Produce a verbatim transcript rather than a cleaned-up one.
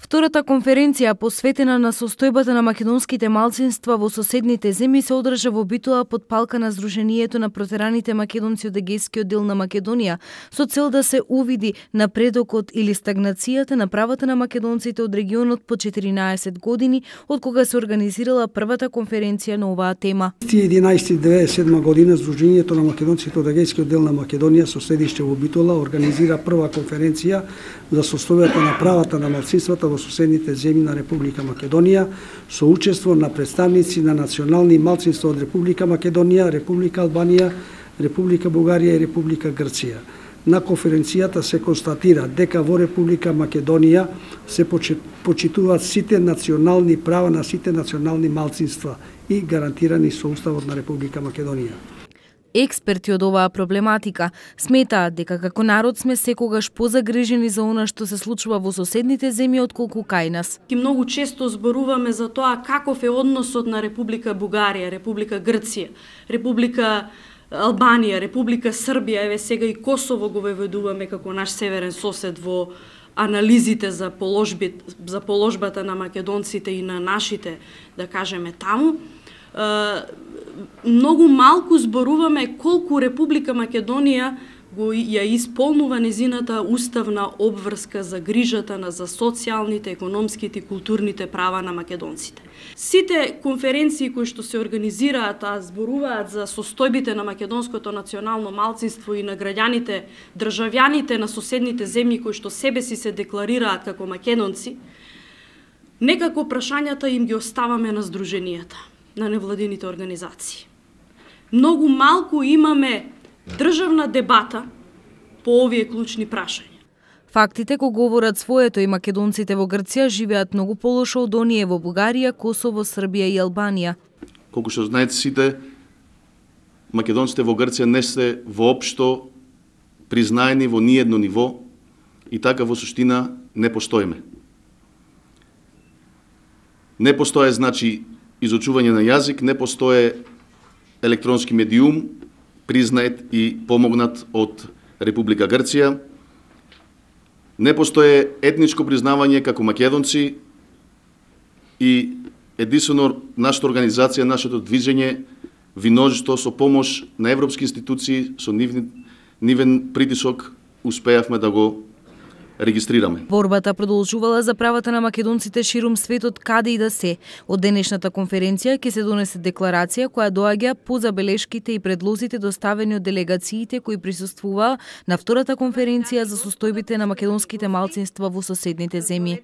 Втората конференција, посветена на состојбата на македонските малцинства во соседните земји, се одржа во Битола под палка на Сдруженијето на протераните македонци од егејскиот дел на Македонија, со цел да се увиди напредокот или стагнацијата на правата на македонците од регионот по четиринаесет години, од кога се организирала првата конференција на оваа тема. единаесети деветдесет и седма година Сдруженијето на македонците од егејскиот дел на Македонија со седиште во Битола организира прва конференција за состојбата на правата на малцинствата во соседните земји на Република Македонија со учество на представници на национални малцинства од Република Македонија, Република Албанија, Република Бугарија и Република Грција. На конференцијата се констатира дека во Република Македонија се почитуваат сите национални права на сите национални малцинства и гарантирани со Уставот на Република Македонија. Експерти од оваа проблематика сметаат дека како народ сме секогаш позагрижени за она што се случува во соседните земји отколку кај нас. И многу често зборуваме за тоа каков е односот на Република Бугарија, Република Грција, Република Албанија, Република Србија, еве сега и Косово го веведуваме како наш северен сосед во анализите за положби, за положбата на македонците и на нашите, да кажеме, таму. Многу малку зборуваме колку Република Македонија го ја исполнува незината уставна обврска за грижата на за социјалните, економските и културните права на македонците. Сите конференции кои што се организираат, а зборуваат за состојбите на македонското национално малцинство и на граѓаните, државјаните на соседните земји кои што себе си се декларираат како македонци, некако прашањата им ги оставаме на здруженијата, на невладините организации. Многу малку имаме државна дебата по овие клучни прашања. Фактите го говорат своето и македонците во Грција живеат многу полошо од оние во Бугарија, Косово, Србија и Албанија. Колку што знаете сите, македонците во Грција не се воопшто признаени во ниедно ниво и така во суштина не постоиме. Не постоje значи изучување на јазик, не постоje електронски медиум, признает и помогнат од Република Грција. Не постоje етничко признавање како македонци и единствено нашата организација, нашето движење виножито со помош на европски институции, со нивен, нивен притисок успеавме да го регистрираме. Борбата продолжувала за правата на македонците ширум светот каде и да се. Од денешната конференција ќе се донесе декларација која доаѓа по забелешките и предлозите доставени од делегациите кои присуствуваа на втората конференција за состојбите на македонските малцинства во соседните земји.